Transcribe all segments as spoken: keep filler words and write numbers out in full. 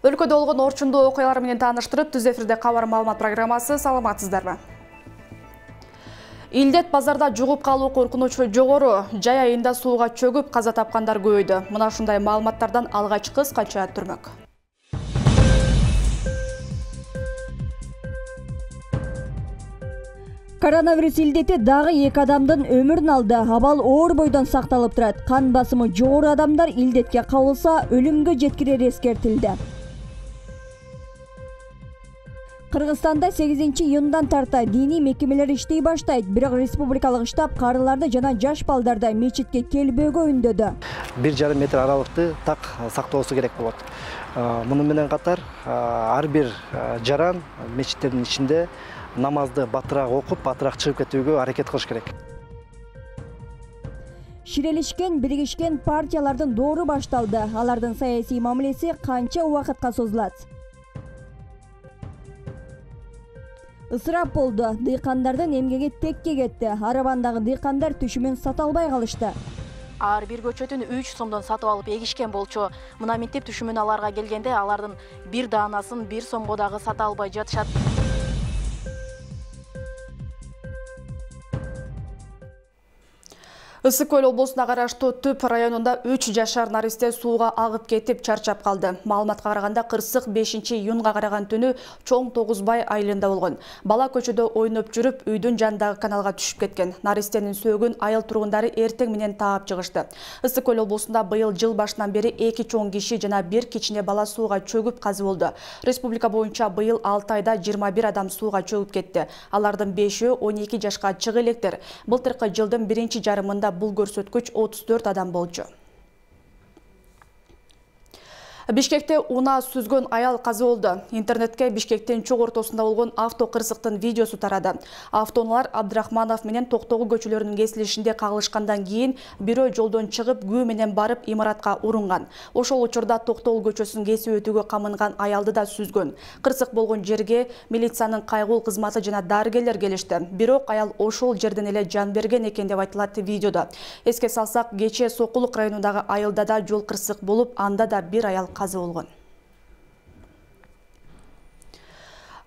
Өлкөдө болгон орчундуу окуялар менен тааныштырып, түз эфирде кабар маалымат программасы. Саламатсыздарбы? Илдет базарда жугуп калуу коркунучу жогору. Жай айында сууга чөгүп каза тапкандар көбөйдү. Мына ушундай маалыматтардан алгач кыскача түрмөк. Коронавирус илдети дагы эки адамдын өмүрүн алды. Абал оор бойдон сакталып турат. Кан басымы жогору адамдар илдетке кабылса, өлүмгө жеткирери эскертилди. Кыргызстанда сегизинчи июндан тарта диний мекемелер иштей баштайт. Бирок республикалык штаб карыларды жана жаш балдарды мечитке келбөөгө үндөдү. бир жарым метр аралыкты так сактоосу керек болот. Муну менен катар ар бир жаран мечиттердин ичинде намазды батыраак окуп, батыраак чыгып кетүүгө аракет кылыш керек. Ширелишкен, биригишкен партиялардын доору башталды. Алардын саясий мамилеси канча убакытка созулат? Ысырап болду. Дыйкандардын эмгеги текке кетти. Арабандагы дыйкандар түшүмүн сата албай калышты. Ар бир көчөтүн үч сомдон сатып алып эгишкен болчу. Мына минтип түшүмүн аларга келгенде алардын бир даанасын бир сомго дагы сата албай жатышат. Ысык Көл облусуна караштуу Түп районунда үч жашар наристе сууга агып кетип чарчап калды. Маалыматка караганда кырсык бешинчи июнга караган түнү Чоң Тогузбай айылында болгон. Бала көчөдө ойноп жүрүп, үйдүн жанындагы каналга түшүп кеткен. Наристенин сөөгүн айыл тургундары эртең менен таап чыгышты. Ысык Көл облусунда быйыл жыл башынан бери эки чоң киши жана бир кичине бала сууга чөгүп казы болду. Республика боюнча быйыл алты айда жыйырма бир адам сууга чөгүп кетти. Алардын бешөө он эки жашка чыга электер. Былтыркы жылдын биринчи жарымында бул көрсөткүч отуз төрт адам болчу. Бишкекте унаа сүзгөн аял каза болду. Интернетке Бишкектин чок ортосунда болгон авто кырсыктын видеосу тарады. Автоунаалар Абдрахманов менен Токтогул көчөлөрүнүн кесилишинде кагылышкандан кийин бирөө жолдон чыгып, күү менен барып имаратка урунган. Ошол учурда Токтогул көчөсүн кесип өтүүгө камынган аялды да сүзгөн. Кырсык болгон жерге милициянын кайгыл кызматы жана дарыгерлер келишти. Бирок аял ошол жерден эле жан берген экен деп айтылат видеодо. Эске салсак, кечээ Сокулук районундагы айылда да жол кырсык болуп, анда да бир аял каза болгон.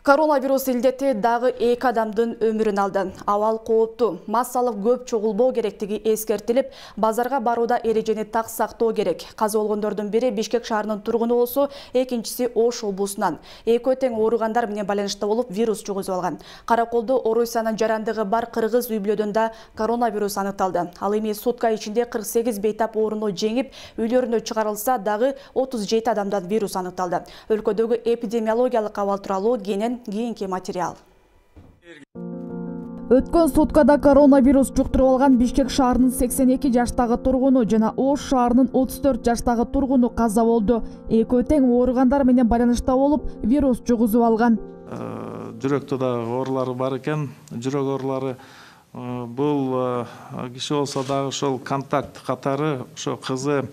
Коронавирус илдети дагы эки адамдын өмүрүн алды. Абал кооптуу, массалык көп чогулбоо керектиги эскертилип, базарга барууда эрежени так сактоо керек. Каза болгондордун бири Бишкек шаарынын тургуну болсо, экинчиси Ош облусунан. Экөө тең ооругандар менен байланышта болуп, вирус жугузуп алган. Караколдо Орусиянын жарандыгы бар кыргыз үй-бүлөдөн да коронавирус аныкталды. Ал эми сутка ичинде кырк сегиз бейтап ооруну жеңип, үйлөрүнө чыгарылса, дагы отуз жети адамдан вирус аныкталды. Өлкөдөгү эпидемиологиялык абал тууралуу кенен кийинки материал. Өткөн суткада коронавирус жуктуруп алган Бишкек шаарынын сексен эки жаштагы тургуну жана Ош шаарынын отуз төрт жаштагы тургуну каза болду. Экөө тең ооругандар менен байланышта болуп, вирус жугузуп алган. Жүрөктө да оорулары бар экен. Жүрөк оорулары бул киши болсо дагы ошол контакт катары ошо кызы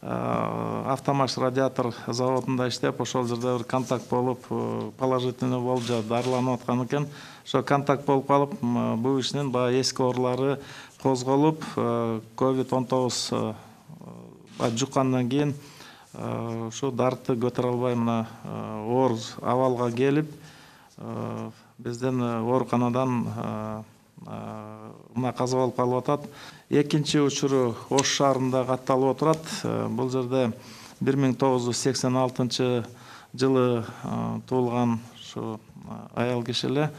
автомаш радиатор заводунда иштеп, ошол жерде бир контакт болуп, положительный болуп, дарыланып аткан экен. Ошо контакт болуп калып, бул кишинин баягы эски оорулары козголуп, ковид он тогуз жуккандан кийин ушу дарты көтөрө албай мына оор абалга келип, бизден ооруканадан мына каза болуп калып атат. Экинчи учуру Ош шаарында катталып отурат. Бул жерде бир миң тогуз жүз сексен алтынчы жылы туулган ушу аял киши эле.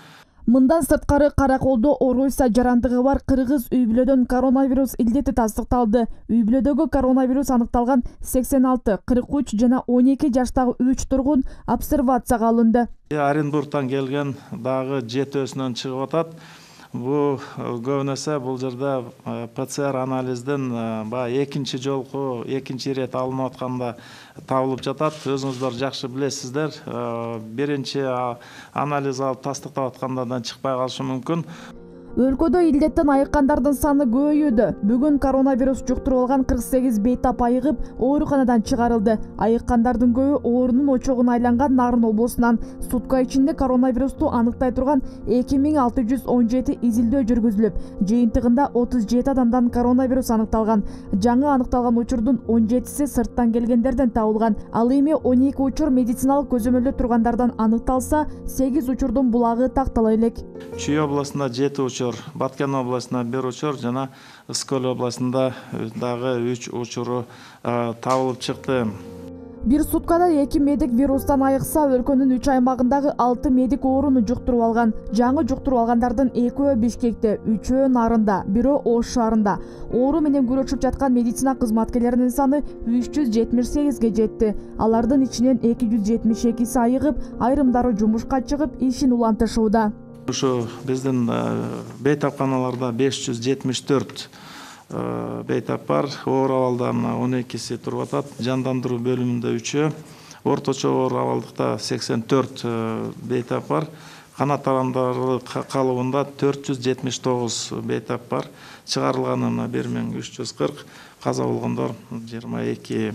Мындан сырткары Караколдо Орусия жарандыгы бар кыргыз үй-бүлөдөн коронавирус илдети тастыкталды. Үй-бүлөдөгү коронавирус аныкталган сексен алты, кырк үч жана он эки жаштагы үч тургун обсервацияга алынды. Оренбургтан келген дагы жетөөсүнөн чыгып атат. Бу көбүнесе бул жерде ПЦР анализден баягы экинчи жолку, экинчи ирет алынып атканда табылып жатат. Өзүңүздөр жакшы билесиздер. Биринчи анализ алып тастыктап атканда да чыкпай калышы мүмкүн. Өлкөдө илдеттен айыккандардын саны көбөйүүдө. Бүгүн коронавирус жуктуруп алган кырк сегиз бейтап айыгып, ооруканадан чыгарылды. Айыккандардын көбү оорунун очогуна айланган Нарын облусунан. Сутка ичинде коронавирусту аныктай турган эки миң алты жүз он жети изилдөө жүргүзүлүп, жыйынтыгында отуз жети адамдан коронавирус аныкталган. Жаңы аныкталган учурдун он жетиси сырттан келгендерден табылган. Ал эми он эки учур медициналык көзөмөлдө тургандардан аныкталса, сегиз учурдун булагы тактала элек. Чүй областында жети учур, Баткен областында бир учур жана Ыскөл областында дагы үч учуру табылып чыкты. Бир суткада эки медик вирустан айыкса, өлкөнүн үч аймагындагы алты медик ооруну жуктуруп алган. Жаңы жуктуруп алгандардын экөө Бишкекте, үчөө Нарында, бирөө Ош шаарында. Оору менен күрөшүп жаткан медицина кызматкерлеринин саны үч жүз жетимиш сегизге жетти. Алардын ичинен эки жүз жетимиш экиси айыгып, айрымдары жумушка чыгып, ишин улантышууда. Ушу биздин бейтапканаларда беш жүз жетимиш төрт бейтап бар. Оор абалда он экиси туруп атат. Жандандыруу бөлүмүндө үчөө, орточо оор абалдыкта сексен төрт бейтап бар. Канат тарамдары калыбында төрт жүз жетимиш тогуз бейтап бар. Чыгарылганы бир миң үч жүз кырк, каза болгондор жыйырма эки.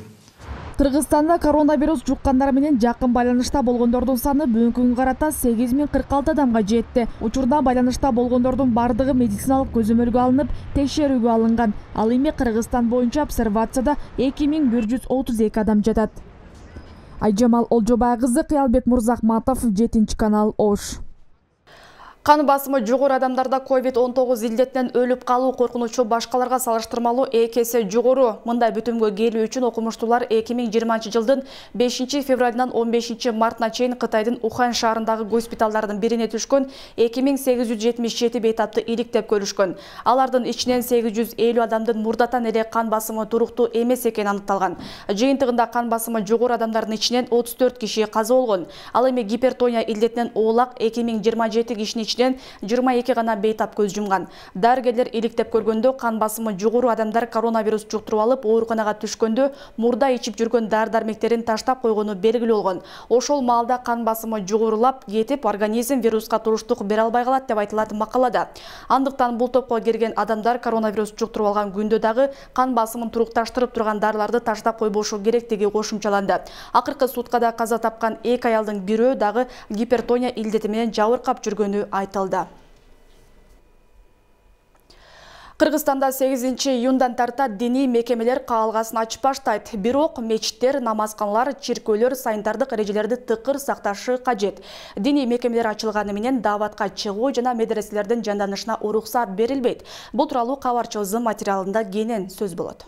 Кыргызстанда коронавирус жуккандар менен жакын байланышта болгондордун саны бүгүнкү күнгө карата сегиз миң кырк алты адамга жетти. Учурда байланышта болгондордун бардыгы медициналык көзөмөлгө алынып, текшерүүгө алынган. Ал эми Кыргызстан боюнча обсервацияда эки миң бир жүз отуз эки адам жатат. Айжамал Олжобай кызы, Кыялбек Мурзахматов, жетинчи канал, Ош. Кан басымы жогору адамдарда ковид он тогуз илдетинен өлүп калуу коркунучу башкаларга салыштырмалуу эки эсе жогору. Мындай бүтүмгө келүү үчүн окумуштуулар эки миң жыйырманчы жылдын бешинчи февралынан он бешинчи мартына чейин Кытайдын Ухань шаарындагы госпиталдардын бирине түшкөн эки миң сегиз жүз жетимиш жети бейтапты иликтеп көрүшкөн. Алардын ичинен сегиз жүз элүү адамдын мурдатан эле кан басымы туруктуу эмес экени аныкталган. Жыйынтыгында кан басымы жогору адамдардын ичинен отуз төрт киши каза болгон. Ал эми гипертония илдетинен оолак эки миң жыйырма жети кишинин ичинен жыйырма эки гана бейтап көз жумган. Дарыгерлер иликтеп көргөндө кан басымы жогору адамдар коронавирус жуктуруп алып, ооруканага түшкөндө мурда ичип жүргөн дары-дармектерин таштап койгону белгилүү болгон. Ошол маалда кан басымы жогорулап кетип, организм вируска туруштук бере албай калат деп айтылат макалада. Андыктан бул топко кирген адамдар коронавирус жуктуруп алган күндө дагы кан басымын турукташтырып турган дарыларды таштап койбошу керектиги кошумчаланды. Акыркы суткада каза тапкан эки аялдын бирөө дагы гипертония илдети менен жабыркап жүргөнү айтылды. Кыргызстанда сегизинчи июндан тарта диний мекемелер каалгасын ачып баштайт. Бирок мечиттер, намазканалар, чиркөөлөр санитардык эрежелерди тыкыр сакташы кажет. Диний мекемелер ачылганы менен дааватка чыгуу жана медреселердин жанданышына уруксат берилбейт. Бул тууралуу кабарчыбыздын материалында кенен сөз болот.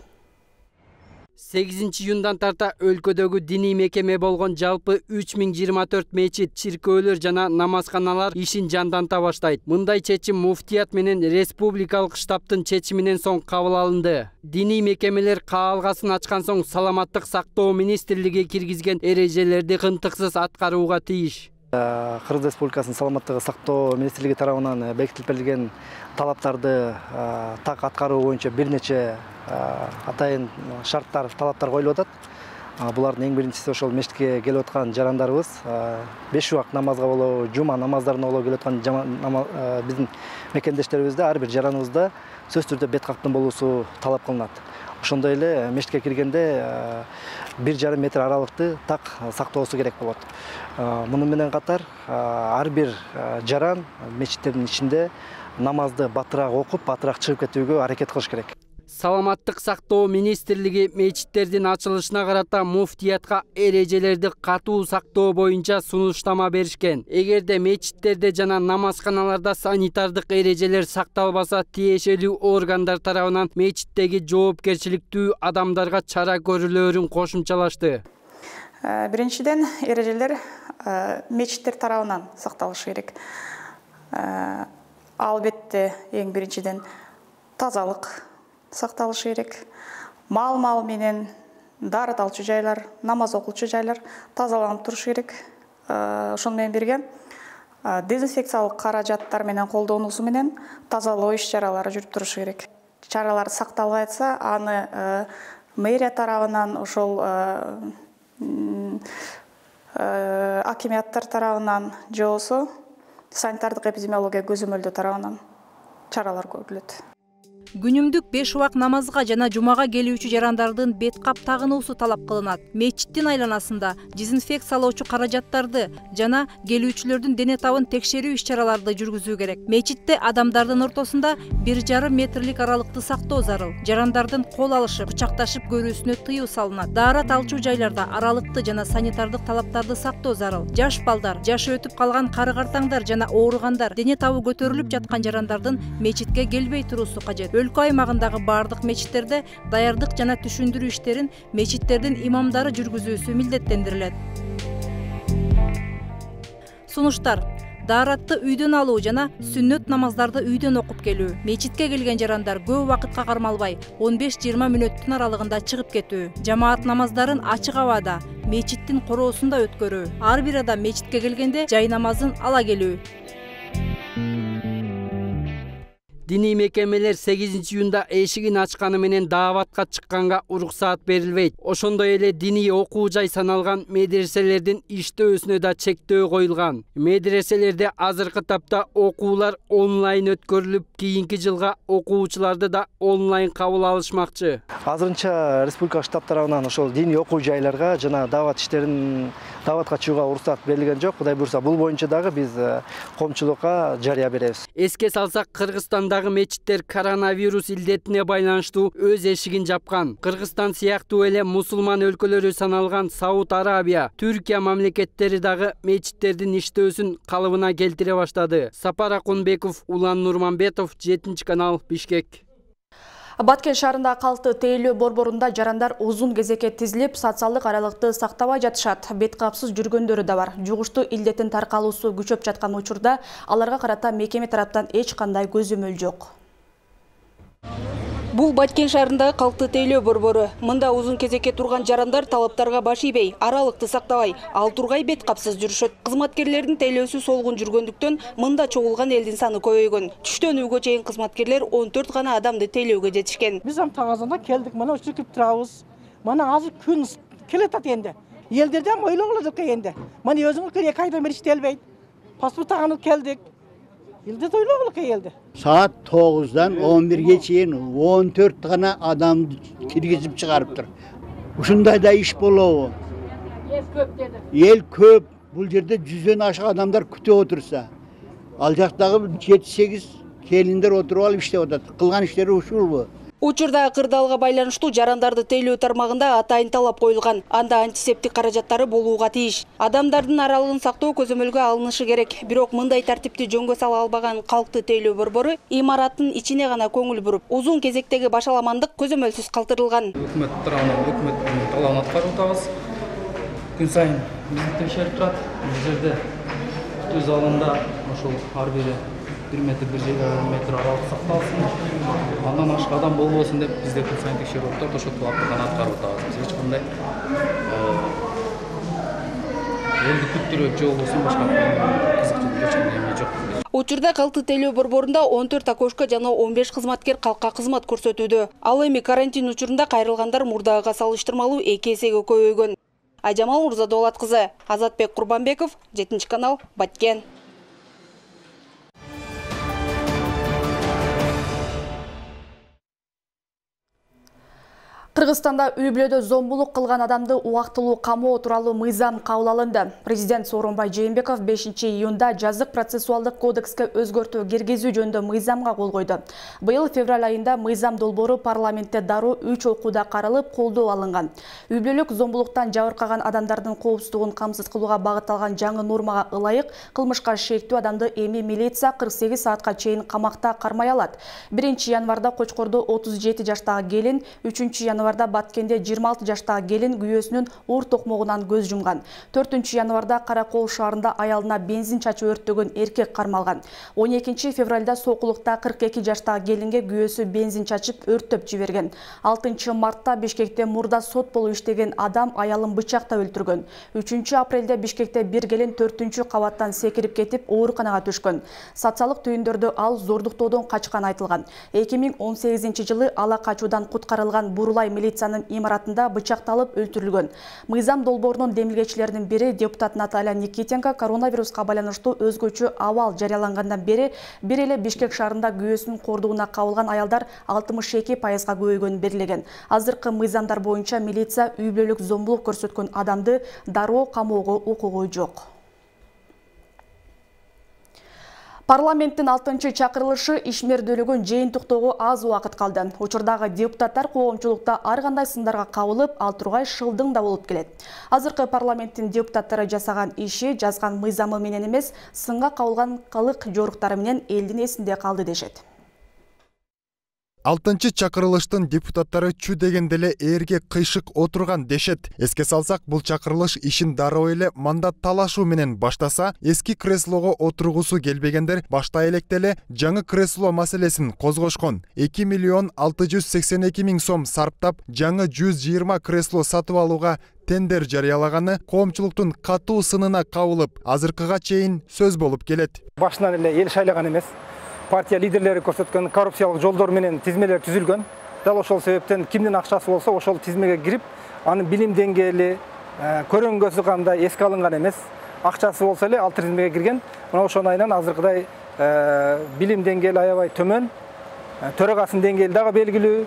сегизинчи июндан тарта өлкөдөгү диний мекеме болгон жалпы үч миң жыйырма төрт мечит, чиркөөлөр жана намазканалар ишин жанданта баштайт. Мындай чечим муфтият менен республикалык штабтын чечиминен соң кабыл алынды. Диний мекемелер каалгасын ачкан соң саламаттык сактоо министрлиги киргизген эрежелерди кынтыксыз аткарууга тийиш. Кыргыз Республикасынын саламаттыгы сактоо министрлиги тарабынан бекитилип берилген талаптарды так аткаруу боюнча бир нече атайын шарттар, талаптар коюлуп атат. Булардын эң биринчиси ошол мечитке келип аткан жарандарыбыз беш убак намазга болобу, жума намаздарына болобу келип аткан биздин мекендештерибизде ар бир жараныбызда сөзсүз түрдө бет каптын болуусу талап кылынат. Ошондой эле мечитке киргенде бир жарым метр аралыкты так сактоосу керек болот. Муну менен катар ар бир жаран мечиттердин ичинде намазды батыраак окуп, батыраак чыгып кетүүгө аракет кылыш керек. Саламаттык сактоо министрлиги мечиттердин ачылышына карата муфтиятка эрежелерди катуу сактоо боюнча сунуштама беришкен. Эгерде мечиттерде жана намазканаларда санитардык эрежелер сакталбаса, тиешелүү органдар тарабынан мечиттеги жоопкерчиликтүү адамдарга чара көрүлөөрүн кошумчалашты. Биринчиден, эрежелер мечиттер тарабынан сакталышы керек. Албетте, эң биринчиден тазалык сакталышы керек. Мал-мал менен дары талчу жайлар, намаз окулчу жайлар тазаланып турушу керек. Ошону менен бирге дезинфекциялык каражаттар менен колдонуусу менен тазалоо иш-чаралары жүрүп турушу керек. Чаралар сакталбай атса, аны мэрия тарабынан, ошол акимияттар тарабынан же болбосо санитардык эпидемиология көзөмөлдөө тарабынан чаралар көрүлөт. Күнүмдүк беш убак намазга жана жумага келүүчү жарандардын бет кап тагынуусу талап кылынат. Мечиттин айланасында дезинфекциялоочу каражаттарды жана келүүчүлөрдүн дене табын текшерүү иш-чараларды жүргүзүү керек. Мечитте адамдардын ортосунда бир жарым метрлик аралыкты сактоо зарыл. Жарандардын кол алышып, кучакташып көрүүсүнө тыюу салынат. Даарат алчу жайларда аралыкты жана санитардык талаптарды сактоо зарыл. Жаш балдар, жашы өтүп калган кары-картаңдар жана ооругандар, дене табы көтөрүлүп жаткан жарандардын мечитке келбей туруусу кажет. Өлкө аймагындагы бардык мечиттерде даярдык жана түшүндүрүү иштерин мечиттердин имамдары жүргүзүүсү милдеттендирилет. Сунуштар: дааратты үйдөн алуу жана сүннөт намаздарды үйдөн окуп келүү. Мечитке келген жарандар көп убакытка кармалбай он беш жыйырма мүнөттүн аралыгында чыгып кетүү. Жамаат намаздарын ачык абада, мечиттин короосунда өткөрүү. Ар бир адам мечитке келгенде жай намазын ала келүү. Диний мекемелер сегизинчи июнда эшигин ачканы менен дааватка чыкканга уруксаат берилбейт. Ошондой эле диний окуу жай саналган медреселердин иштөөсүнө да чектөө коюлган. Медреселерде азыркы тапта окуулар онлайн өткөрүлүп, кийинки жылга окуучуларды да онлайн кабыл алышмакчы. Азырынча республика штаб тарабынан ошол диний окуу жайларга жана даават иштерин дааватка чыгууга уруксаат берилген жок. Кудай буйрса, бул боюнча дагы биз коомчулукка жарыя беребиз. Эске салсак, Кыргызстанда мечиттер коронавирус илдетине байланыштуу өз эшигин жапкан. Кыргызстан сыяктуу эле мусулман өлкөлөрү саналган Сауд Арабия, Түркия мамлекеттери дагы мечиттердин иштөөсүн калыбына келтире баштады. Сапар Акунбеков, Улан Нурманбетов, жетинчи канал, Бишкек. Баткен шаарында калты тейлөө борборунда жарандар узун кезекке тизилип, социалдык аралыкты сактабай жатышат. Бет капсыз жүргөндөрү да бар. Жугуштуу илдеттин таркалуусу күчөп жаткан учурда аларга карата мекеме тараптан эч кандай көзөмөл жок. Бул Баткен шаарындагы калты тейлөө борбору. Мында узун кезекке турган жарандар талаптарга баш ийбей, аралыкты сактабай, ал тургай бет капсыз жүрүшөт. Кызматкерлердин тейлөөсү солгун жүргөндүктөн мында чогулган элдин саны көбөйгөн. Түштөн үйгө чейин кызматкерлер он төрт гана адамды тейлөөгө жетишкен. Биз ам таң азанда келдик, мына ушинтип турабыз. Мына азыр күн келатат энди. Элдерден ойлоңулар деп келгенде. Мына өзүңөр эки айдан бери иштелбейт. Паспорт тагынып келдик. Элде тойлоңулар келди. Saat тогуздан он бирге чейин он төрт гана адам киргизип чыгарыптыр. Ушундайда иш болобу? Эл көп деди. Эл көп. Бул жерде жүздөн ашык адамдар күтүп отурса, ал жактагы жети сегиз келиндер отуруп алып иштеп атат. Кылган иштери ушулбу? Учурда кырдаалга байланыштуу жарандарды тейлөө тармагында атайын талап коюлган. Анда антисептик каражаттары болууга тийиш. Адамдардын аралыгын сактоо көзөмөлгө алынышы керек. Бирок мындай тартипти жөнгө сала албаган калкты тейлөө борбору имараттын ичине гана көңүл буруп, узун кезектеги башаламандык көзөмөлсүз калтырылган. Өкмөт тарабынан өкмөттүн талабын аткарып атабыз. Күн сайын бизди текшерип турат. Бул жерде күтүү залында ошол ар бири бир метр бир метр аралык сакталсын. Андан ашык адам болбосун деп бизде күн сайын текшерип атат. Ошол талапты гана аткарып атабыз. Биз эч кандай элди күттүрөт же болбосо башка кызыктуу эч кандай эме жок. Учурда калты тейлөө борборунда он төрт акошка жана он беш кызматкер калкка кызмат көрсөтүүдө. Ал эми карантин учурунда кайрылгандар мурдагыга салыштырмалуу эки эсеге көбөйгөн. Айжамал Мурзадолат кызы, Азатбек Курбанбеков, жетинчи канал, Баткен. Кыргызстанда үй бүлөдө зомбулук кылган адамды убактылуу камоо тууралуу мыйзам кабыл алынды. Президент Сооронбай Жээнбеков бешинчи июнда жазык процессуалдык кодекске өзгөртүү киргизүү жөнүндө мыйзамга кол койду. Быйыл февраль айында мыйзам долбоору парламентте дароо үч окууда каралып, колдоо алынган. Үй бүлөлүк зомбулуктан жабыркаган адамдардын коопсуздугун камсыз кылууга багытталган жаңы нормага ылайык кылмышка шектүү адамды эми милиция кырк сегиз саатка чейин камакта кармай алат. биринчи январда Кочкордо отуз жети жаштагы келин, үчүнчү январда Баткенде жыйырма алты жаштагы келин күйөөсүнүн оор токмогунан көз жумган. төртүнчү январда Каракол шаарында аялына бензин чачып өрттөгөн эркек кармалган. он экинчи февралда Сокулукта кырк эки жаштагы келинге күйөөсү бензин чачып өрттөп жиберген. алтынчы мартта Бишкекте мурда сот болуп иштеген адам аялын бычактап өлтүргөн. үчүнчү апрелде Бишкекте бир келин төртүнчү кабаттан секирип кетип ооруканага түшкөн. Социалдык түйүндөрдө ал зордуктоодон качканы айтылган. эки миң он сегизинчи жылы ала качуудан куткарылган Бурулай милициянын имаратында бычакталып өлтүрүлгөн. Мыйзам долбоорунун демилгечилеринин бири депутат Наталья Никитенко коронавируска байланыштуу өзгөчө абал жарыялангандан бери бир эле Бишкек шаарында күйөөсүнүн кордугуна кабылган аялдар алтымыш эки пайызга көбөйгөнүн белгилеген. Азыркы мыйзамдар боюнча милиция үй бүлөлүк зомбулук көрсөткөн адамды дароо камоого укугу жок. Парламенттин алтынчы чакырылышы ишмердүүлүгүн жыйынтыктоого аз убакыт калды. Учурдагы депутаттар коомчулукта ар кандай сындарга кабылып, ал тургай шылдың да болуп келет. Азыркы парламенттин депутаттары жасаган иши жазган мыйзамы менен эмес, сынга кабылган кылык жоруктары менен элдин эсинде калды дешет. Алтынчы чакырылыштын депутаттары чү дегенде эле ээрге кыйшык отурган дешет. Эске салсак, бул чакырылыш ишин дароо эле мандат талашуу менен баштаса, эски креслого отургусу келбегендер башта электе эле жаңы кресло маселесин козгошкон. эки миллион алты жүз сексен эки миң сом сарптап, жаңы жүз жыйырма кресло сатып алууга тендер жарыялаганы коомчулуктун катуу сынына кабылып, азыркыга чейин сөз болуп келет. Башынан эле эл шайлаган эмес. Партия лидерлери көрсөткөн коррупциялык жолдор менен тизмелер түзүлгөн. Дал ошол себептен кимдин акчасы болсо ошол тизмеге кирип, анын билим деңгээли, көрөнгөсү кандай эске алынган эмес. Акчасы болсо эле ал тизмеге кирген. Мына ошонун айынан азыркыдай билим деңгээли аябай төмөн, төрагасынын деңгээли дагы белгилүү,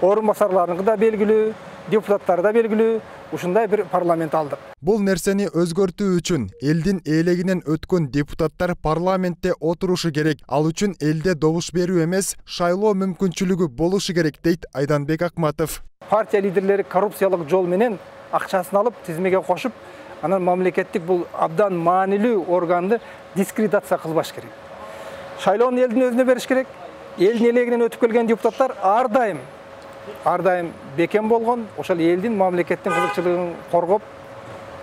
орун басарларыныкы да белгилүү, депутаттары да белгилүү. Ушундай бир парламент алдык. Бул нерсени өзгөртүү үчүн элдин ээлегинен өткөн депутаттар парламентте отурушу керек. Ал үчүн элде добуш берүү эмес, шайлоо мүмкүнчүлүгү болушу керек, дейт Айданбек Акматов. Партия лидерлери коррупциялык жол менен акчасын алып, тизмеге кошуп, анан мамлекеттик бул абдан маанилүү органды дискредитация кылбаш керек. Шайлоону элдин өзүнө бериш керек. Элдин ээлегинен өтүп келген депутаттар ар дайым ар дайым бекем болгон, ошол элдин мамлекеттин кызыкчылыгын коргоп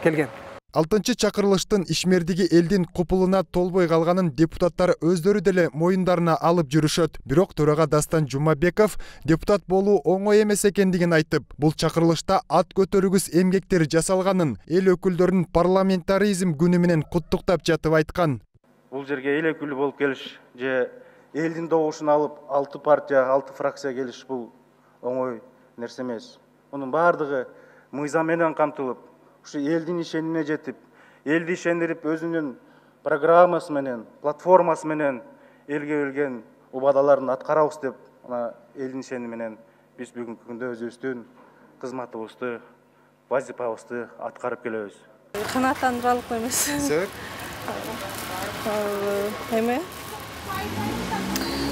келген. Алтынчы чакырылыштын ишмердиги элдин купулуна толбой калганын депутаттар өздөрү деле моюндарына алып жүрүшөт. Бирок төрага Дастан Жумабеков депутат болуу оңой эмес экендигин айтып, бул чакырылышта ат көтөрүгүс эмгектер жасалганын эл өкүлдөрүнүн парламентаризм күнү менен куттуктап жатып айткан. Бул жерге эл өкүлү болуп келиш же элдин добушун алып алты партия, алты фракция келиш бул оңой нерсе эмес. Мунун баардыгы мыйзам менен камтылып, ушу элдин ишенимине жетип, элди ишендирип, өзүнүн программасы менен, платформасы менен элге берген убадаларын аткарабыз деп, ана элдин ишеними менен биз бүгүнкү күндө өзүбүздүн кызматыбызды, вазифабызды аткарып келебиз. Канааттандыралык эмес. Себеп? Эме?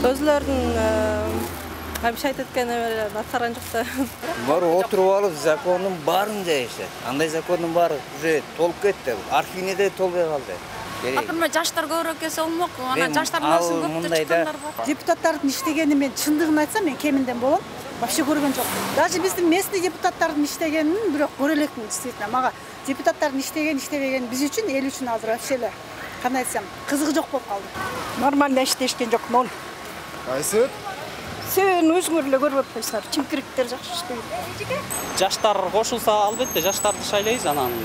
Өзлөрүнүн Абиш айтып кеткен эмелерин аткарган жок да. Бар отуруп алып закондун баарын жайышат. Андай закондун баары уже толуп кетти. Архивине да толбой калды. Акырма жаштар көбүрөөк келсе болмок. Анан жаштардын арасынан көптөр чыккандар бар. Депутаттардын иштегени мен чындыгын айтсам мен кеминден болом. Вообще көргөн жок. Даже биздин местный депутаттардын иштегенин бирок көрө элекмин действительно. Мага депутаттардын иштеген, иштебеген биз үчүн, эл үчүн азыр вообще эле кандай айтсам, кызыгы жок болуп калды. Нормально иштешкен жок, ноль. Кайсы? Сен өзүңөр эле көрүп атпайсыңар, чимкириктер жакшы иштейт. Жаштар кошулса, албетте жаштарды шайлайбыз анан.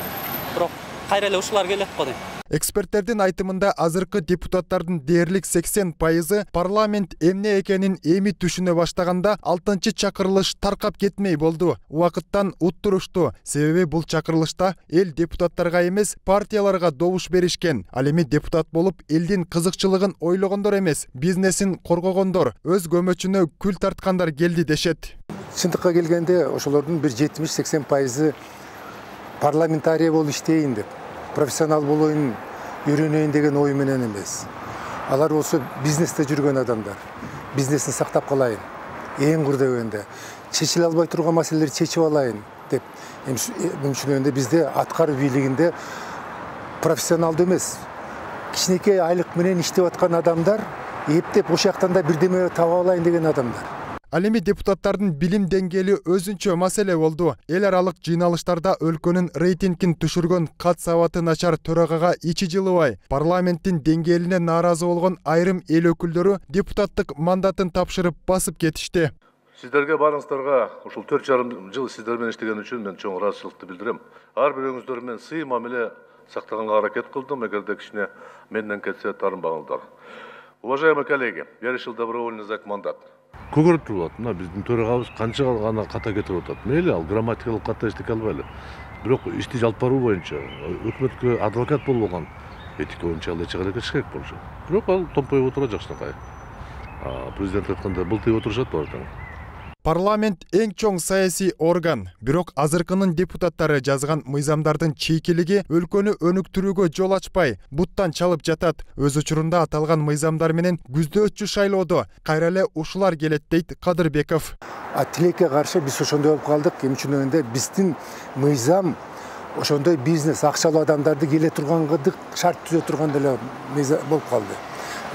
Бирок кайра эле ушулар келет го дейм. Эксперттердин айтымында азыркы депутаттардын дээрлик сексен пайызы парламент эмне экенин эми түшүнө баштаганда алтынчы чакырылыш таркап кетмей болду. Убакыттан уттурушту. Себеби бул чакырылышта эл депутаттарга эмес, партияларга добуш беришкен. Ал эми депутат болуп элдин кызыкчылыгын ойлогондор эмес, бизнесин коргогондор, өз көмөчүнө күл тарткандар келди дешет. Чындыкка келгенде ошолордун бир жетимиш сексен пайызы парламентарий болуп иштейин деп, профессионал болоюн, үйрөнөйүн деген ой менен эмес. Алар болсо бизнесте жүргөн адамдар. Бизнесин сактап калайын. Эң курдөгөндө чечиле албай турган маселелерди чечип алайын деп. Мүмкүнчүлүгүндө бизде аткаруу бийлигинде профессионалдуу эмес, кичинекей айлык менен иштеп аткан адамдар, эптеп ошол жактан да бирдеме таба алайын деген адамдар. Ал эми депутаттардын билим деңгээли өзүнчө маселе болду. Эл аралык жыйналыштарда өлкөнүн рейтингин түшүргөн кат сабаты начар төрагага ичи жылыбай, парламенттин деңгээлине нааразы болгон айрым эл өкүлдөрү депутаттык мандатын тапшырып басып кетишти. Сиздерге барыңыздарга ушул төрт жарым жыл сиздер менен иштеген үчүн мен чоң ыраазычылыкты билдирем. Ар бирөөңүздөр менен сый мамиле сактаганга аракет кылдым, эгерде кичине менден кетсе таарынбаңыздар. Уважаемые коллеги, я решил добровольно сдать мандат. көгөрүп туруп атат. Мына биздин төрагабыз канча гана ката кетирип атат. Мейли ал грамматикалык ката иштей албайлы. Бирок ишти жалп баруу боюнча өкмөткө адвокат болбогон этика боюнча ал эч аракет керек болчу. Бирок ал томпоюп отура жакшынакай. Президент айткандай былтыйып отурушат баардыгы. Парламент эң чоң саясий орган, бирок азыркынын депутаттары жазган мыйзамдардын чейкилиги өлкөнү өнүктүрүүгө жол ачпай, буттан чалып жатат. Өз учурунда аталган мыйзамдар менен күздөөчү шайлоодо кайра эле ушулар келет дейт Кадырбеков. А тилекке каршы биз ошондой болуп калдык. Эмне үчүн дегенде биздин мыйзам ошондой бизнес акчалуу адамдарды келе тургандык шарт түзө турган деле мыйзам болуп калды.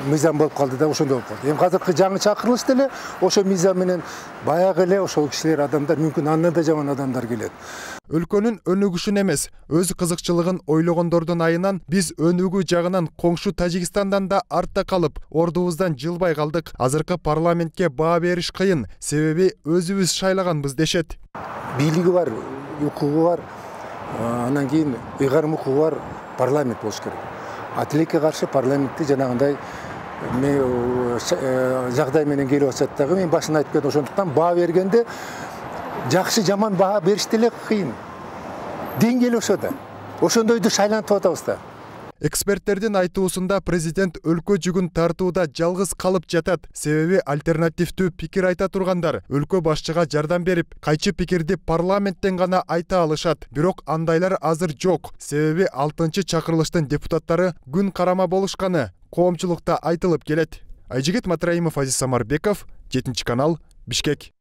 Мыйзам болуп калды да ошондой болуп калды. Эми азыркы жаңы чакырылыш деле ошо мыйзам менен баягы эле ошол кишилер адамдар мүмкүн андан да жаман адамдар келет. Өлкөнүн өнүгүшүн эмес, өз кызыкчылыгын ойлогондордун айынан биз өнүгүү жагынан коңшу Тажикстандан да артта калып, ордубуздан жылбай калдык. Азыркы парламентке баа бериш кыйын, себеби өзүбүз шайлаганбыз дешет. Бийлиги бар, укугу бар, анан кийин ыйгарым укугу бар парламент болуш керек. А тилекке каршы парламентти жанагындай жагдай менен келип атат дагы. Мен башында айтып кетем, ошондуктан баа бергенде жакшы жаман баа бериш деле кыйын. Деңгээли ошодо. Ошондойду шайлантып атабыз да. Эксперттердин айтуусунда президент өлкө жүгүн тартууда жалгыз калып жатат. Себеби альтернативдүү пикир айта тургандар өлкө башчыга жардам берип, кайчы пикирди парламенттен гана айта алышат. Бирок андайлар азыр жок. Себеби алтынчы чакырылыштын депутаттары күн карама болушканы коомчулукта айтылып келет. Айжигит Матраимов, Азиз Самарбеков, жетинчи канал, Бишкек.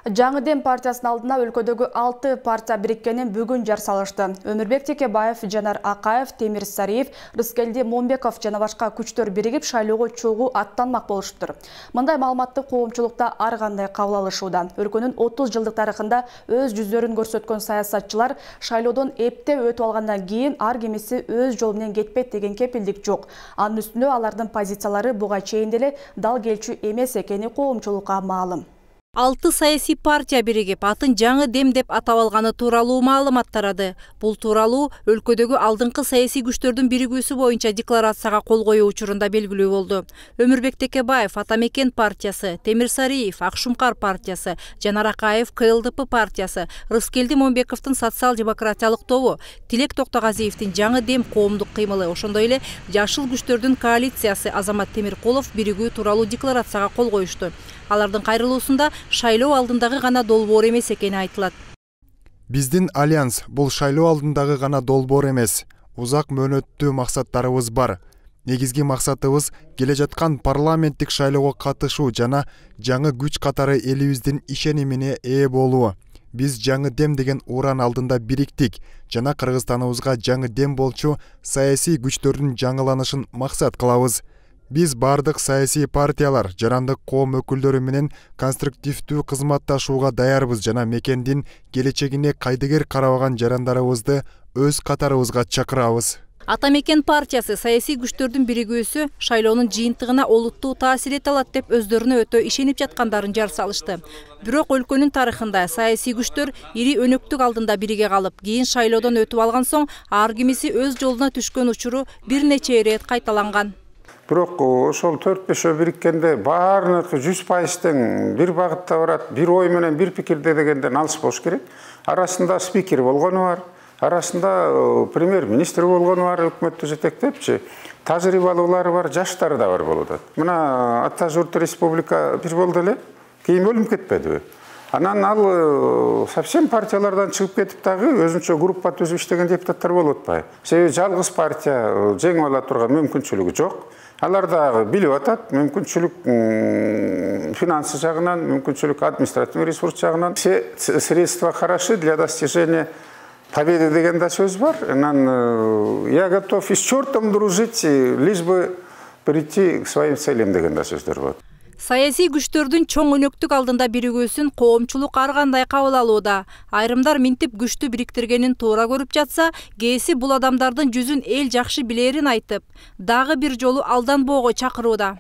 Жаңы Дем партиясынын алдына өлкөдөгү алты партия бириккенин бүгүн жар салышты. Өмүрбек Текебаев, Жанар Акаев, Темир Сариев, Рыскелди Момбеков жана башка күчтөр биригип шайлоого чогуу аттанмак болуштур. Мындай маалыматты коомчулукта ар кандай кабыл алышууда. Өлкөнүн отуз жылдык тарыхында өз жүздөрүн көрсөткөн саясатчылар шайлоодон эптеп өтүп алгандан кийин ар кимиси өз жолу менен кетпейт деген кепилдик жок. Анын үстүнө алардын позициялары буга чейин деле дал келчү эмес экени коомчулукка маалым. Алты саясий партия биригип, атын Жаңы Дем деп атап алганы тууралуу маалымат тарады. Бул тууралуу өлкөдөгү алдыңкы саясий күчтөрдүн биригүүсү боюнча декларацияга кол коюу учурунда белгилүү болду. Өмүрбек Текебаев Ата Мекен партиясы, Темир Сариев Акшумкар партиясы, Жанар Акаев К Л Д П партиясы, Рыскелди Момбековдун социал-демократиялык тобу, Тилек Токтогазиевдин Жаңы Дем коомдук кыймылы, ошондой эле Жашыл күчтөрдүн коалициясы Азамат Темиркулов биригүү тууралуу декларацияга кол коюшту. Алардын кайрылуусунда шайлоо алдындагы гана долбоор эмес экени айтылат. Биздин альянс бул шайлоо алдындагы гана долбоор эмес. Узак мөөнөттүү максаттарыбыз бар. Негизги максатыбыз келе жаткан парламенттик шайлоого катышуу жана жаңы күч катары элибиздин ишенимине ээ болуу. Биз Жаңы Дем деген уран алдында бириктик жана Кыргызстаныбызга жаңы дем болчу саясий күчтөрдүн жаңыланышын максат кылабыз. Биз бардык саясий партиялар, жарандык коом өкүлдөрү менен конструктивдүү кызматташууга даярбыз жана мекендин келечегине кайдыгер карабаган жарандарыбызды өз катарыбызга чакырабыз. Ата Мекен партиясы саясий күчтөрдүн биригүүсү шайлоонун жыйынтыгына олуттуу таасир эте алат деп өздөрүнө өтө ишенип жаткандарын жар салышты. Бирок өлкөнүн тарыхында саясий күчтөр ири өнөктүк алдында бириге калып, кийин шайлоодон өтүп алган соң ар кимиси өз жолуна түшкөн учуру бир нече ирет кайталанган. Бирок ошол төрт бешөө бириккенде баарыныкы жүз пайыз тең бир багытта барат, бир ой менен бир пикирде дегенден алыс болуш керек. Арасында спикер болгону бар, арасында премьер-министр болгону бар, өкмөттү жетектепчи, тажрыйбалуулары бар, жаштары да бар болуп атат. Мына Ата журт республика бир болду эле, кийин бөлүнүп кетпедиби? Анан ал совсем партиялардан чыгып кетип дагы өзүнчө группа түзүп иштеген депутаттар болуп атпайбы? Себеби жалгыз партия жеңип ала турган мүмкүнчүлүгү жок. Алар дагы билип атат, мүмкүнчүлүк финансы жагынан, мүмкүнчүлүк административный ресурс жагынан. Все средства хороши для достижения победы деген да сөз бар. Анан я готов и с чертом дружить, лишь бы прийти к своим целям деген да сөздөр бар. Саясий күчтөрдүн чоң өнөктүк алдында биригүүсүн коомчулук ар кандай кабыл алууда. Айрымдар минтип күчтү бириктиргенин туура көрүп жатса, кээси бул адамдардын жүзүн эл жакшы билерин айтып, дагы бир жолу алданбоого чакырууда.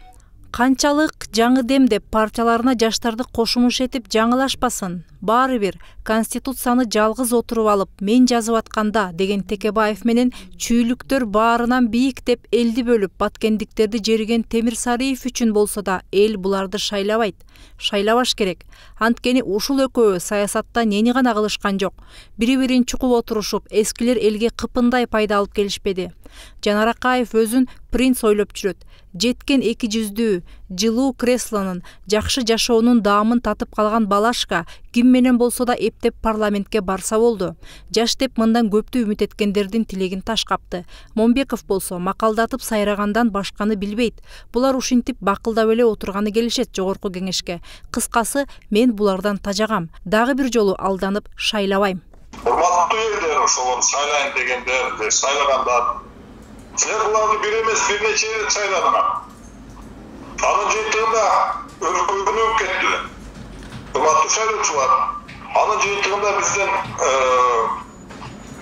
Канчалык Жаңы Дем деп партияларына жаштарды кошумуш этип жаңылашпасын. Баары бир Конституцияны жалгыз отуруп алып, мен жазып атканда деген Текебаев менен чүйлүктөр баарынан бийик деп элди бөлүп, баткендиктерди жериген Темир Сариев үчүн болсо да эл буларды шайлабайт. Шайлабаш керек. Анткени ушул экөө саясатта нени гана кылышкан жок. Бири-бирин чукуп отурушуп, эскилер элге кыпындай пайда алып келишпеди. Жанар Акаев өзүн принц ойлоп жүрөт. Жеткен эки жүздүү, жылуу креслонун, жакшы жашоонун даамын татып калган балашка ким менен болсо да эптеп парламентке барса болду. Жаш деп мындан көптү үмүт эткендердин тилегин таш капты. Момбеков болсо макалдатып сайрагандан башканы билбейт. Булар ушинтип бакылдап эле отурганы келишет жогорку кеңешке. Кыскасы, мен булардан тажагам. Дагы бир жолу алданып шайлабайм. Урматтуу элдер, ошол сайлайын дегендер, сайлагандар. Силер буларды бир эмес, бир нече рет сайладыңар. Анын жыйынтыгында өлкөнүп кетти. Урматтуу шайлоочулар, анын жыйынтыгында биздин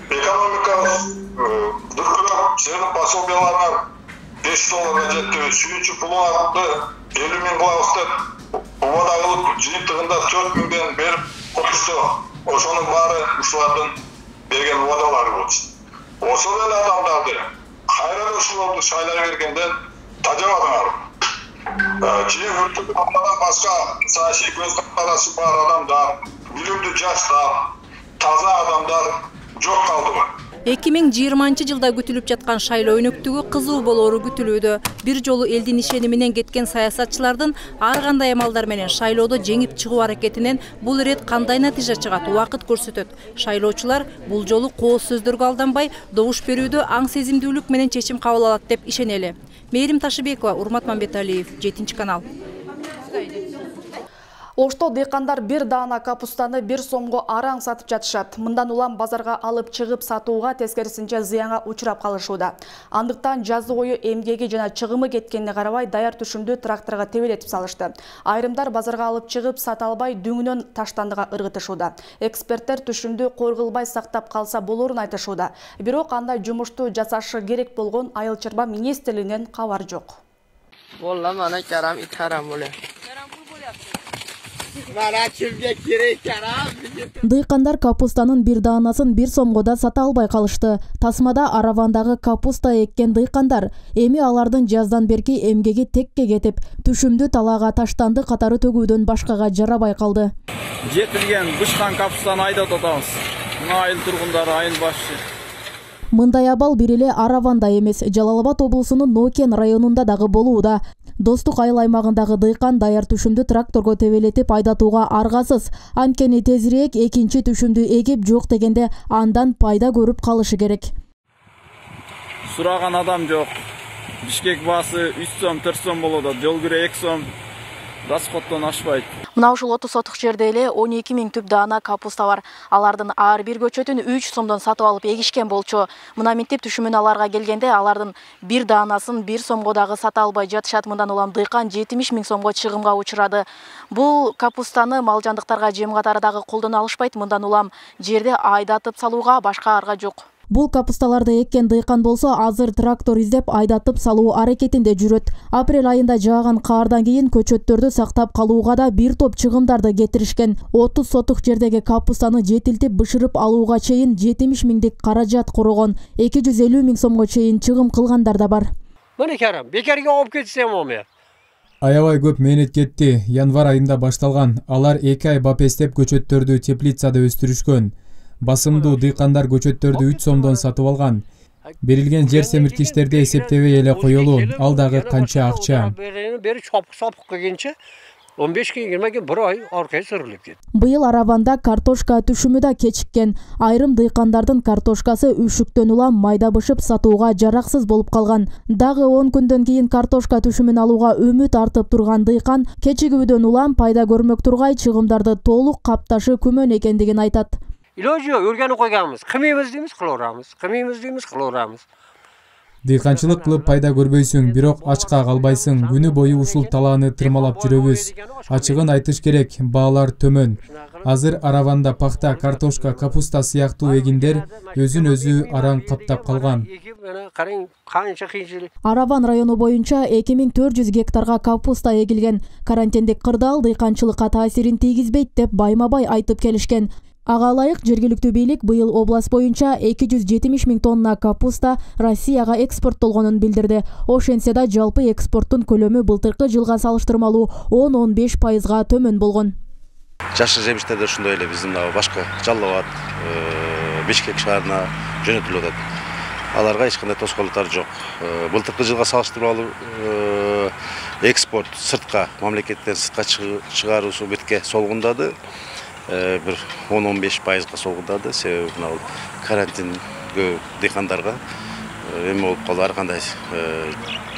экономикабыз дүркүрөп, силердин пособияларыңар беш долларга жетти, сүйүүчү пулуңарды элүү миң кылабыз деп убада кылып, жыйынтыгында төрт миңден берип коюшту. Ошонун баары ушулардын берген убадалары болчу. Ошол эле адамдарды кайра ушуларды шайлай бергенден тажабадыңар. Кийин өлкөдөн башка саясий көз карашы бар адамдар, билимдүү жаштар, таза адамдар жок калдыбы? эки миң жыйырманчы жылда күтүлүп жаткан шайлоо өнөктүгү кызуу болоору күтүлүүдө. Бир жолу элдин ишени менен кеткен саясатчылардын ар кандай амалдар менен шайлоодо жеңип чыгуу аракетинен бул ирет кандай натыйжа чыгат, убакыт көрсөтөт. Шайлоочулар бул жолу кооз сөздөргө алданбай, добуш берүүдө аң сезимдүүлүк менен чечим кабыл алат деп ишенели. Мээрим Ташыбекова, Урмат Мамбеталиев, жетинчи канал. Ошто дыйкандар бир даана капустаны бир сомго араң сатып жатышат. Мындан улам базарга алып чыгып сатууга, тескерисинче зыянга учурап калышууда. Андыктан жазы бою эмгеги жана чыгымы кеткенине карабай даяр түшүмдү тракторго тебелетип салышты. Айрымдар базарга алып чыгып сата албай дүңүнөн таштандыга ыргытышууда. Эксперттер түшүмдү коргулбай сактап калса болорун айтышууда. Бирок андай жумушту жасашы керек болгон Айыл чарба министрлигинен кабар жок. Волла мана карам итарам боле. Дыйкандар капустанын бир даанасын бир сомго да сата албай калышты. Тасмада аравандагы капуста эккен дыйкандар эми алардын жаздан берки эмгеги текке кетип, түшүмдү талаага таштанды катары төгүүдөн башкага жарабай калды. Жетилген бышкан капустаны айдап атабыз. Мына айыл тургундары, айыл башчы. Мындай абал бир эле Араванда эмес, Жалал Абад облусунун Нокен районунда дагы болууда. Достук айыл аймагындагы дыйкан даяр түшүмдү тракторго тебелетип айдатууга аргасыз. Анткени тезирээк экинчи түшүмдү эгип жок дегенде андан пайда көрүп калышы керек. Сураган адам жок. Бишкек баасы үч сом, төрт сом болот, жол кирө эки сом. Расходтон ашпайт. Мына ушул отуз сотук жерде эле он эки миң түп даана капуста бар. Алардын ар бир көчөтүн үч сомдон сатып алып эгишкен болчу. Мына минтип түшүмүн аларга келгенде алардын бир даанасын бир сомго дагы сата албай жатышат. Мындан улам дыйкан жетимиш миң сомго чыгымга учурады. Бул капустаны мал жандыктарга жем катары дагы колдоно алышпайт. Мындан улам жерде айдатып салууга башка арга жок. Бул капусталарды эккен дыйкан болсо азыр трактор издеп айдатып салуу аракетинде жүрөт. Апрель айында жааган каардан кийин көчөттөрдү сактап калууга да бир топ чыгымдарды кетиришкен. отуз сотук жердеги капустаны жетилтип бышырып алууга чейин жетимиш миңдик каражат корогон. эки жүз элүү миң сомго чейин чыгым кылгандар да бар. Мына карам, бекерге алып кетсем оме. Аябай көп мээнет кетти. Январь айында башталган. Алар эки ай бапестеп көчөттөрдү теплицада өстүрүшкөн. Басымдуу дыйкандар көчөттөрдү үч сомдон сатып алган. Берилген жер семирткичтерди эсептебей эле коелу. Ал дагы канча акча. Бери чопук сопук келгенче он беш күн жыйырма күн бир ай аркай сүрүлүп кетти. Быйыл Араванда картошка түшүмү да кечиккен. Айрым дыйкандардын картошкасы үшүктөн улам майда бышып сатууга жараксыз болуп калган. Дагы он күндөн кийин картошка түшүмүн алууга үмүт артып турган дыйкан кечигүүдөн улам пайда көрмөк тургай чыгымдарды толук капташы күмөн экендигин айтат. Иложу өргөнү койганбыз. Кымыбыз дейбиз, кылабыз. Кымыбыз дейбиз, кылабыз. Дыйканчылык кылып пайда көрбөйсүң, бирок ачка калбайсың. Күнү бою ушул талааны тырмалап жүрөбүз. Ачыгын айтыш керек, баалар төмөн. Азыр Араванда пахта, картошка, капуста сыяктуу эгиндер өзүн өзү араң каптап калган. Араван району боюнча эки миң төрт жүз гектарга капуста эгилген. Карантиндик кырдаал дыйканчылыкка таасирин тийгизбейт деп байма-бай айтып келишкен. Ага ылайык жергиликтүү бийлик быйыл область боюнча эки жүз жетимиш миң тонна капуста Россияга экспорттолгонун билдирди. Ошентсе да жалпы экспорттун көлөмү былтыркы жылга салыштырмалуу он он беш пайызга төмөн болгон. Жашыл жемиштерде ушундай эле биздин башка Жалал Абад, Бишкек шаарына жөнөтүлүп атат. Аларга эч кандай тоскоолдуктар жок. Былтыркы жылга салыштырмалуу экспорт сыртка, мамлекеттен сыртка чыгаруусу бетке солгундады. Бир он он беш пайызга солгундады. Себеби мына карантингө дыйкандарга эме болуп калды, ар кандай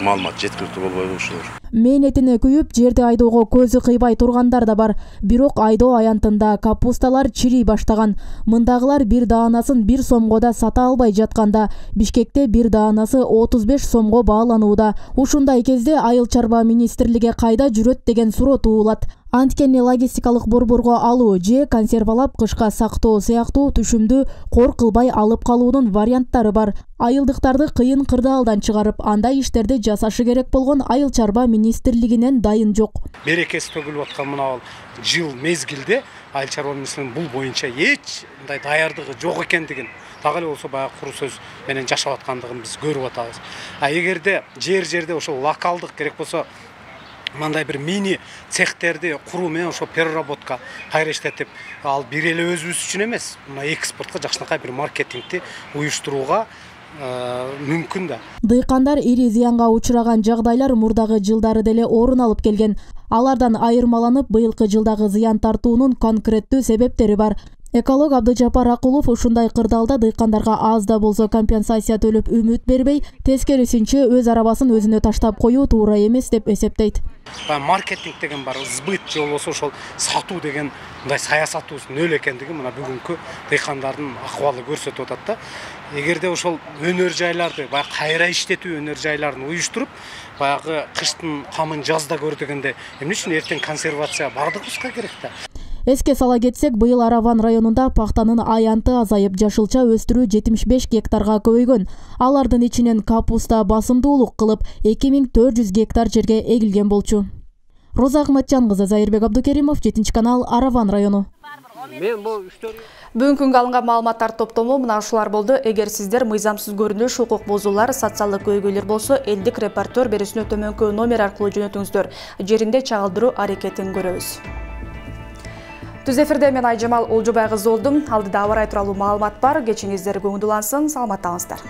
маалымат жеткиликтүү болбой ушулар. Мээнетине күйүп, жерди айдоого көзү кыйбай тургандар да бар. Бирок айдоо аянтында капусталар чирий баштаган. Мындагылар бир даанасын бир сомго да сата албай жатканда, Бишкекте бир даанасы отуз беш сомго бааланууда. Ушундай кезде Айыл чарба министрлиги кайда жүрөт деген суроо туулат. Анткени логистикалык борборго алуу же консервалап кышка сактоо сыяктуу түшүмдү кор кылбай алып калуунун варианттары бар. Айылдыктарды кыйын кырдаалдан чыгарып, андай иштерди жасашы керек болгон Айыл чарба министрлигинен дайын жок. Берекеси төгүлүп аткан мына жыл мезгилде Айыл чарба министрлигинин бул боюнча эч мындай даярдыгы жок экендигин, так эле болсо баягы куру сөз менен жашап аткандыгын биз көрүп атабыз. А эгерде жер-жерде ошол локалдык керек болсо мындай бир мини цехтерди куруу менен ошо переработка кайра иштетип, ал бир эле өзүбүз үчүн эмес, мына экспортко жакшынакай бир маркетингди уюштурууга мүмкүн да. Дыйкандар ири зыянга учураган жагдайлар мурдагы жылдары деле орун алып келген. Алардан айырмаланып, быйылкы жылдагы зыян тартуунун конкреттүү себептери бар. Эколог Абдыжапар Акулов ушундай кырдаалда дыйкандарга аз да болсо компенсация төлөп үмүт бербей, тескерисинче өз арабасын өзүнө таштап коюу туура эмес деп эсептейт. Маркетинг деген бар, сбыт же болбосо ошол сатуу деген мындай саясатыбыз нөл экендиги мына бүгүнкү дыйкандардын акыбалы көрсөтүп атат да. Эгерде ошол өнөр жайларды, баягы кайра иштетүү өнөр жайларын уюштуруп, баягы кыштын камын жазда көр дегенде, эмне үчүн эртең консервация бардыгыбызга керек да. Эске сала кетсек, быйыл Араван районунда пахтанын аянты азайып, жашылча өстүрүү жетимиш беш гектарга көбөйгөн. Алардын ичинен капуста басымдуулук кылып эки миң төрт жүз гектар жерге эгилген болчу. Роза Ахматжан кызы, Зайырбек Абдукеримов, жетинчи канал, Араван району. Бүгүнкү күнгө алынган маалыматтар топтому мына ушулар болду. Эгер сиздер мыйзамсыз көрүнүш, укук бузуулар, социалдык көйгөйлөр болсо, элдик репортер берүүсүнө төмөнкү номер аркылуу жөнөтүңүздөр. Жеринде чагылдыруу аракетин көрөбүз. Түз эфирде мен Айжамал Олжобай кызы болдум. Алдыда аба ырайы тууралуу маалымат бар. Кечиңиздер көңүл улансын, саламаттаңыздар.